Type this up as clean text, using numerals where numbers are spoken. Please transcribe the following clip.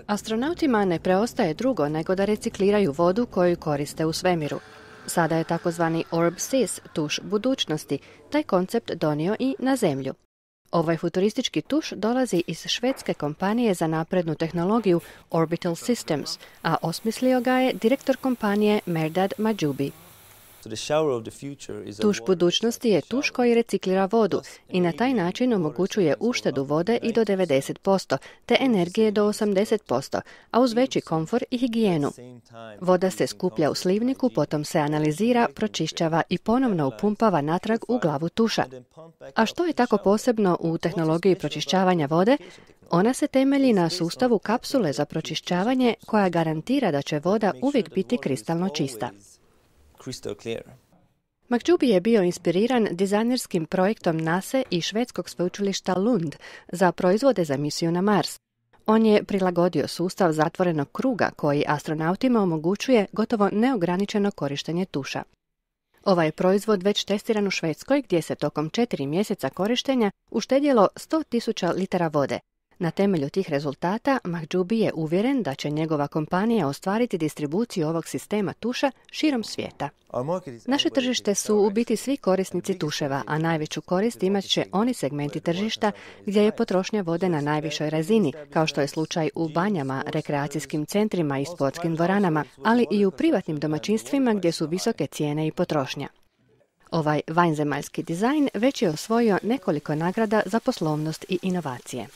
Astronautima ne preostaje drugo nego da recikliraju vodu koju koriste u svemiru. Sada je takozvani OrbSys, tuš budućnosti, taj koncept donio i na Zemlju. Ovaj futuristički tuš dolazi iz švedske kompanije za naprednu tehnologiju Orbital Systems, a osmislio ga je direktor kompanije Mehrdad Mahjoubi. Tuš budućnosti je tuš koji reciklira vodu i na taj način omogućuje uštedu vode i do 90%, te energije do 80%, a uz veći komfor i higijenu. Voda se skuplja u slivniku, potom se analizira, pročišćava i ponovno upumpava natrag u glavu tuša. A što je tako posebno u tehnologiji pročišćavanja vode? Ona se temelji na sustavu kapsule za pročišćavanje koja garantira da će voda uvijek biti kristalno čista. Mahjoubi je bio inspiriran dizajnerskim projektom NASA i švedskog sveučilišta Lund za proizvode za misiju na Mars. On je prilagodio sustav zatvorenog kruga koji astronautima omogućuje gotovo neograničeno korištenje tuša. Ovaj proizvod već testiran u Švedskoj gdje se tokom 4 mjeseca korištenja uštedjelo 100.000 litara vode. Na temelju tih rezultata Mahjoubi je uvjeren da će njegova kompanija ostvariti distribuciju ovog sistema tuša širom svijeta. Naše tržište su u biti svi korisnici tuševa, a najveću korist imat će oni segmenti tržišta gdje je potrošnja vode na najvišoj razini, kao što je slučaj u banjama, rekreacijskim centrima i sportskim dvoranama, ali i u privatnim domaćinstvima gdje su visoke cijene i potrošnja. Ovaj vanzemaljski dizajn već je osvojio nekoliko nagrada za poslovnost i inovacije.